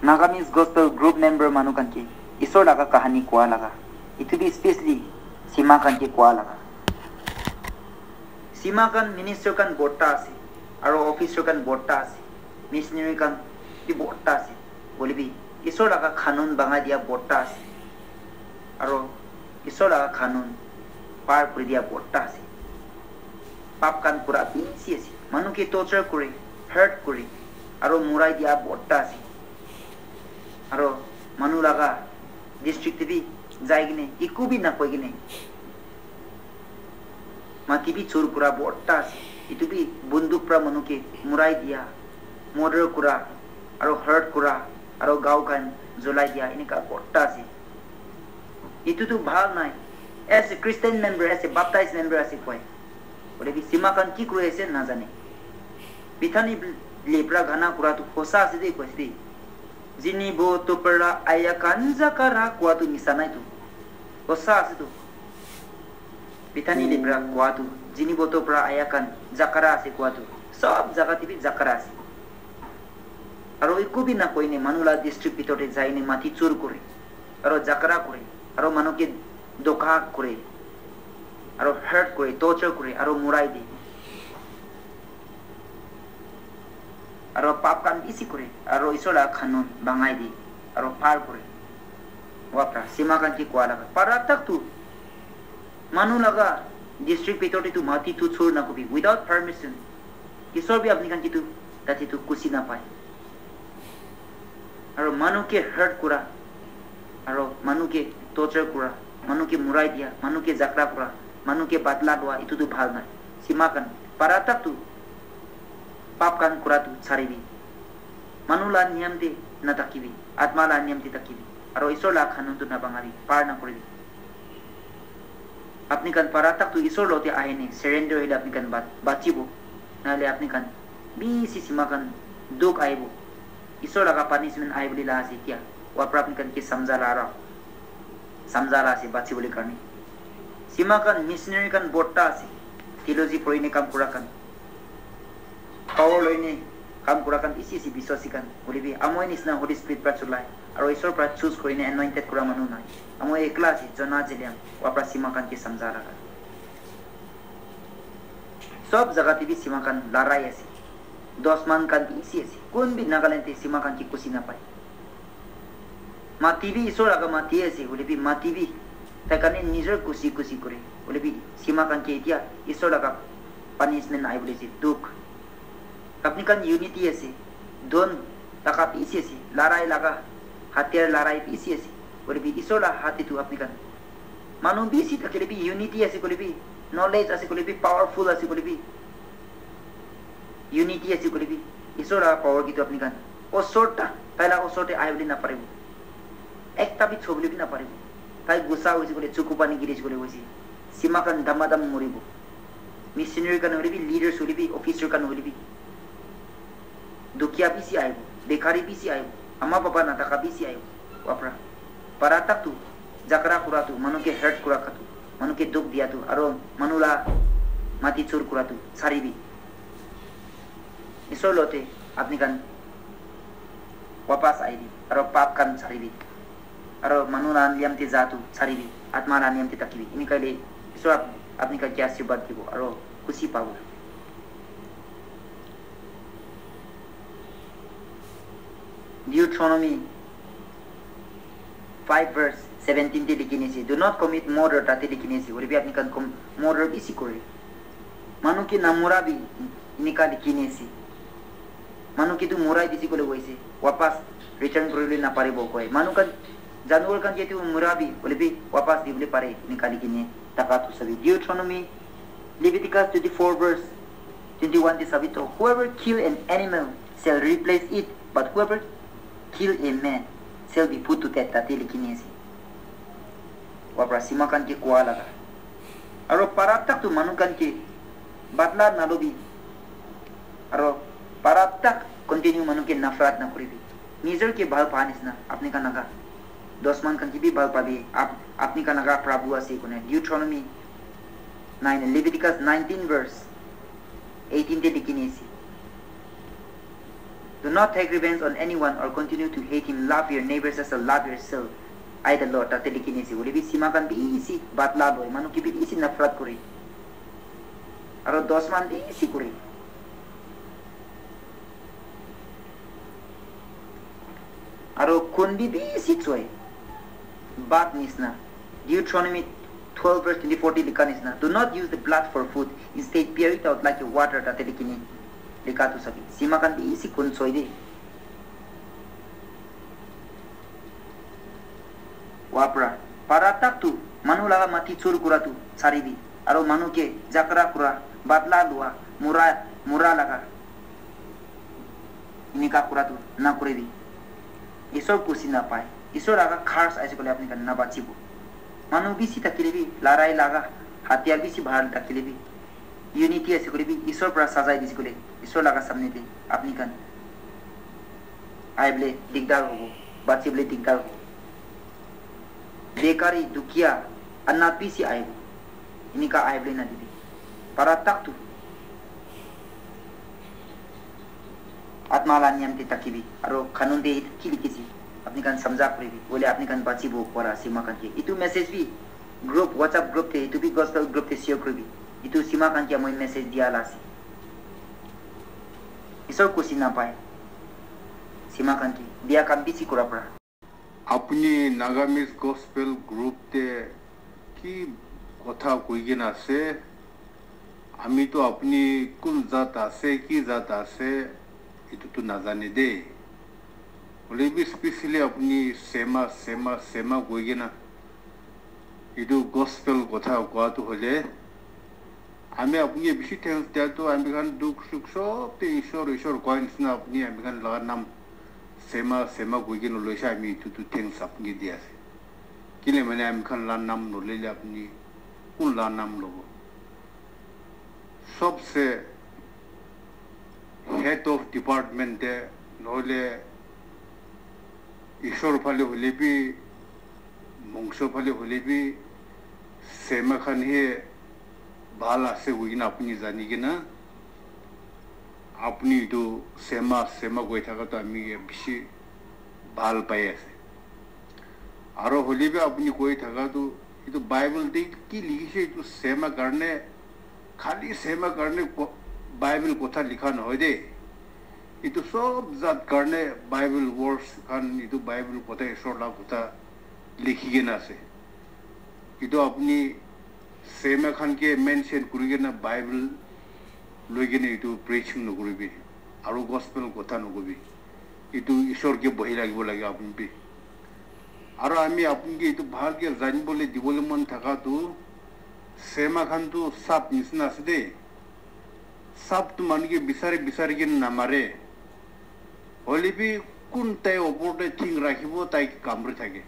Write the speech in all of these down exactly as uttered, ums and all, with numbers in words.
Nagamese Gospel Group member manu khan ke Isor laga kahani koa laga, etu bi specially Sima khan ke koa laga. Sima khan minister khan borta ase, aro officer khan borta ase, missionary khan bi borta ase. Hoile bi Isor laga kanun bangai dia borta ase, aro Isor laga kanun par kuri dia borta ase. Pap khan pura bishi ase. Manu ke torture kure, hurt kure, aro murai dia borta ase. Aro manu laga district te bi jai kene eku bi nakoi kene mati bi chur kura borta ase. Etu bi bunduk pra manu ke murai dia, murder kura, aro hurt kura, aro gao khan jolai dia, enika borta ase. Etu tu bhal nai. As a Christian member, as a baptized member ase koi. Hoile bi Sima khan ki kuri ase najane. Bethany lepra gana kura tu hosa ase de koi ase de. Jini bo to pra aya kan jakara koa tu misa nai tu. Hosa ase tu. Bethany lepra koa tu. Jini bo to pra aya kan jakara ase koa tu. Sob jaga te bi jakara ase. Aro eku bi nakoi ne manu la district bitor te jai ne mati chur kure. Aro jakara kure. Aro manu ke doka kure. Aro hurt kure, torture kure, aro murai de. Aro pap khan bishi kure, aro Isor la kanun bangai de, aro par kure. Wapra, Sima khan ke koa laga. Para tak tu, manu laga district bitor te tu mati tu chur na kubi, without permission. Isor bi apni khan ke tu, tate tu kusi na pai. Aro manu ke hurt kura, aro manu ke torture kura, manu ke murai dia, manu ke jakra kura, manu ke badla lua, etu tu bhal nai. Sima khan, para tak tu pap khan kura tu charibi. Manu la niyam te na thakibi, atma la niyam te thakibi. Aro Isor la kanun tu na bangabi, par na kuribi. Apni khan para tak tu Isor lote ahi ne surrender hoile apni khan bat-, bachibo. Nahole apni khan bishi Sima khan dukh ahibo. Isor laga punishment ahi bole la ase tia. Wapra apni khan ke samjha la ra. Samjha la ase bachi bole karne. Sima khan missionary khan borta ase. Theology pori ne kam kura khan. Power loi ne kam kura khan bishi ase biswasi khan. Hoile bi amoi nisna Holy Spirit pra chulai. Aro Isor pra choose kuri ne anointed kura manu nai. Amoi ekla ase, Jonah jeliam. Wapra Sima khan ke samjha laga. Sob jaga te bi Sima khan larai ase. Dusman khan bishi ase. Kun bi Nagaland te Sima khan ke kusi na pai. Mati bi Isor laga mati ase, hoile bi mati bi tai khan nijor kusi kusi kure. Hoile bi Sima khan ke etia Isor laga punishment ahi bole ase, dukh. Apni khan unity ase, dhon taka bishi ase, larai laga, hatiyar larai bishi ase. Hoile bi Isor la hat te tu apni khan manu bishi thakile bi unity ase koile bi, knowledge ase koile bi, powerful ase koile bi, unity ase koile bi, Isor la power kitu apni khan osor ta, tai la osor te ahi bole na paribo. Ekta bi chobole bi na paribo. Tai gusa hoise koile chuku pani giri koile hoise. Sima khan damadam moribo. Missionary khan hoile bi, leaders hoile bi, officer khan hoile bi. Dukia bishi ahibo, bekhari bishi ahibo, ama baba nataka bishi ahibo. Wapra. Para tak tu, jakra kura tu, manu ke hurt kura kha tu, manu ke dukh dia tu, aro manu la mati chur kura tu, saribi. Isor lote apni khan wapas aibi, aro pap khan saribi. Aro manu la niyam te ja tu saribi, atma la niyam te thakibi. Enika hoile Isor ap-, apni khan ke ashirbad dibo, aro khushi pabo. Deuteronomy five verse seventeen te likhi ne ase, "Do not commit murder," tate likhi ne ase. Hoile bi apni khan kom-, murder bishi kore. Manu ke namura bi enika likhi ne ase. Manu ke tu murai dise koile koise, wapas return kuribole naparibo koi. Manu khan, janwar khan ke tu mura bi, hoile bi wapas dibole pare, enika likhi ne thaka tu sabi. Deuteronomy, Leviticus twenty-four verse twenty-one te sabi to, "Whoever kill an animal shall replace it, but whoever kill a man shall be put to death," tate likhi ne ase. Wapra Sima khan ke koa laga. Aro para tak tu manu khan ke badla nalobi. Aro para tak continue manu ke nafrat na kuribi. Nijor ke bhal pa nisna apni khan laga dusman khan ke bi bhal pabi. Ap-, apni khan laga Prabhu ase kone. Deuteronomy nine, Leviticus nineteen verse eighteen te likhi ne ase. Do not take revenge on anyone or continue to hate him. Love your neighbors as you love yourself. I, the Lord, tate likhi na ase. Hoile bi sema khan bisi badla loi, manu ke bisi nafrat kore. Aro dos man bisi kore. Aro khun bi bisi choi. Bad nisna. Deuteronomy twelve verse twenty-four te likha nisna. Do not use the blood for food. Instead, bear it out like a water, tate likhi na likha tu sabi. Sema khan bisi khun choi de. Wapra. Para tak tu manu laga mati chur kura tu saribi. Aro manu ke jakra kura, badla lua, mura, mura laga. Enika kura tu na kuribi. Isor kusi na pai. Isor laga curse aise koile apni khan na bachibo. Manu bisi thakile bi, larai laga, hatiar bisi bahar thakile bi, unity aise koile bi, Isor pra sajai dise koile, Isor laga samne te apni khan aibole digdar hobo, bachibole digdar hobo. Bekari, dukia, anat bisi aibo. Enika aibole na dibi. Para tak tu. Atma la niyam te thakibi. Aro kanun te ki likhi ase? Apni khan samjha kuribi. Hoile apni khan bachibo pora sema khan ke. Itu message bi group, WhatsApp group te, itu bi gospel group te share kuribi. Itu sema khan ke moi message dia la ase. Isor kusi na pai. Sema khan ke. Bia khan bisi kura pora. Apuni Nagamese Gospel Group te ki kotha koi kena ase? Ami to apuni kun jat ase, ki jat ase, etu to najane de. Hoile bi specially apuni sema, sema, sema koi kena etu gospel kotha koa to hoile, ami apuni ke bishi thanks dia tu, ami khan dukh sukh sob te Ishwar, Ishwar koi nisna apuni ami khan laga nam sema, sema koi kena loise, ami etu tu thanks apuni ke di ase. Kile mane ami khan la nam nolele apuni kun la nam lobo? Sobse head of department te nohole Ishwar phale hoile bi, mongso phale hoile bi, sema khan he bhal ase koi kena apuni jani kena, apuni etu sema, sema koi thaka to ami ke bishi bhal pai ase. Aro hoile bi apuni koi thaka tu, etu Bible te ki likhi se, etu sema karne, khali sema karne ko-, Bible kotha likha nohoi de. Etu sob jat karne Bible verse khan, etu Bible kotha, Ishwar la kotha likhi kena ase. Etu apuni sema khan ke mention kuri kena Bible loi kena etu preaching nokuribi, aru gospel kotha nokobi. Etu Ishwar ke bohi lagibo lage apuni bi. Aru ami apuni ke etu bhal ke janibole dibole mon thaka tu, sema khan tu sap nisina ase de. Sap tu manu ke bisari bisari kena namare. Hoile bi kun tai opor te thing rakhibo, tai ke kamri thake.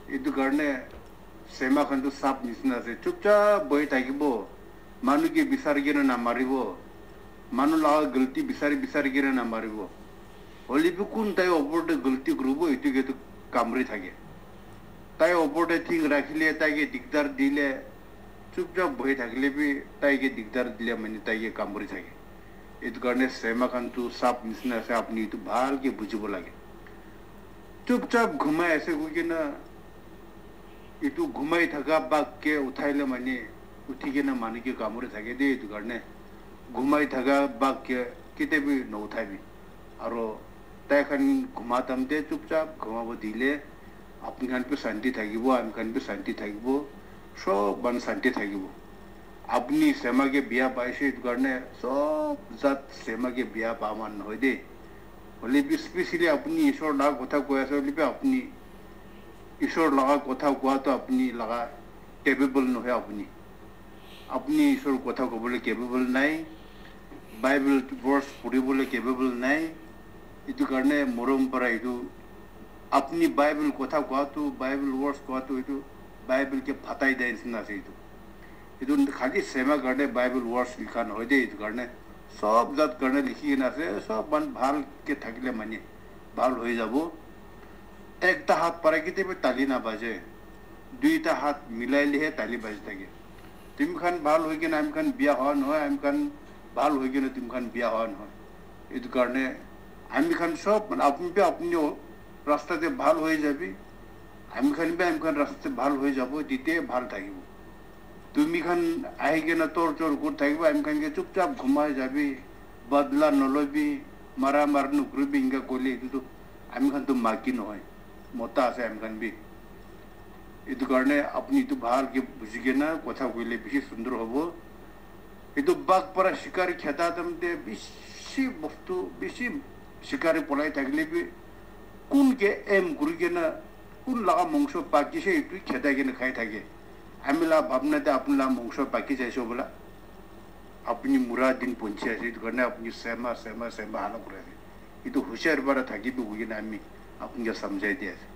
Etu karne sema khan tu sap nisina ase, chupchap bohi thakibo, manu ke bisari kena namaribo, manu laga galti bisari bisari kena namaribo. Hoile bi kun tai opor te galti kuribo, etu ke tu kamri thake. Tai opor te thing rakhile, tai ke digdar dile, chupchap bohi thakile bi tai ke digdar dile mane tai ke kamri thake. Etu karne sema khan tu sap nisina ase, apuni etu bhal ke bujibo lage. Chupchap ghumai ase koi kena, etu ghumai thaka bag ke uthaile mane uthi kena manu ke kamuri thake de, etu karne ghumai thaka bag ke ketia bi nouthaibi. Aro tai khan ghuma time te chupchap ghumabo dile, apni khan bi shanti thakibo, ami khan bi shanti thakibo, sob manu shanti thakibo. Apuni sema ke bia paise, etu karne sob jat sema ke bia pa man nohoi de. Hoile bi specially apuni Ishwar la kotha koi ase, hoile bi apuni Ishwar laga kotha koa to apuni laga capable nohoi apuni. Apuni Ishwar kotha kobole capable nai, Bible verse puribole capable nai. Etu karne morom para etu apuni Bible kotha koa to, Bible verse koa to, etu Bible ke phatai dia nisina ase etu. Etu khali sema karne Bible verse likha nohoi de, etu karne sob jat karne likhi kena ase, sob man bhal ke thakile mane bhal hoi jabo. Ekta hath para ketia bi tali na baje, duita hath milai lehe tali baji thake. Tumi khan bhal hoi kena ami khan bia hoa nohoi, ami khan bhal hoi kena tumi khan bia hoa nohoi. Etu karne Ami khan sob, mane, apni bi apni rasta te bhal hoi jabi, ami khan bi ami khan rasta te bhal hoi jabo, tite bhal thakibo. Tumi khan ahi kena tor chor kuri thakibo, ami khan ke chupchap ghumai jabi, badla nolobi, mara mar nukribi, inga koile etu tu ami khan tu maki nohoi, mota ase ami khan bi. Etu karne apni etu bhal ke buji kena kotha koile bishi sundor hobo. Etu bag para shikar kheda time te bishi bostu, bishi shikar polai thakile bi kun ke aim kuri kena kun laga mongso pakise etu kheda kena khai thake. Ami la bhabna te apni la mongso paki jaise bola. Apni mura din ponchi ase, etu karne apni sema, sema, sema hala kuri ase. Etu hushar para thakibi koi kena ami apni ke samjhai di ase.